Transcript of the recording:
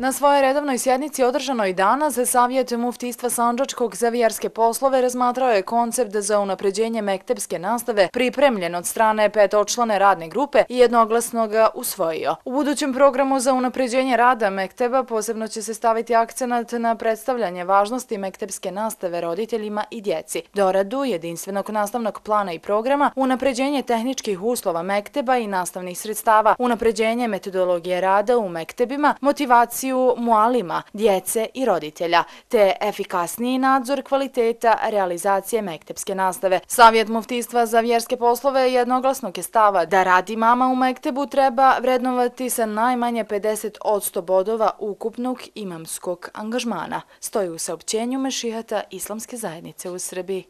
Na svojoj redovnoj sjednici održanoj danas, Savjet muftijstva Sandžačkog za vjerske poslove razmatrao je koncept za unapređenje mektepske nastave pripremljen od strane petočlane radne grupe i jednoglasno ga usvojio. U budućem programu za unapređenje rada mekteba posebno će se staviti akcenat na predstavljanje važnosti mektepske nastave roditeljima i djeci, doradu jedinstvenog nastavnog plana i programa, unapređenje tehničkih uslova mekteba i nastavnih sredstava, unapređenje metodologije rada u mektebima, motivaciju mualima, djece i roditelja, te efikasniji nadzor kvaliteta realizacije mektepske nastave. Savjet muftijstva za vjerske poslove jednoglasnog je stava da rad imama u mektebu treba vrednovati sa najmanje 50% bodova ukupnog imamskog angažmana, stoji u saopćenju Mešihata Islamske zajednice u Srbiji.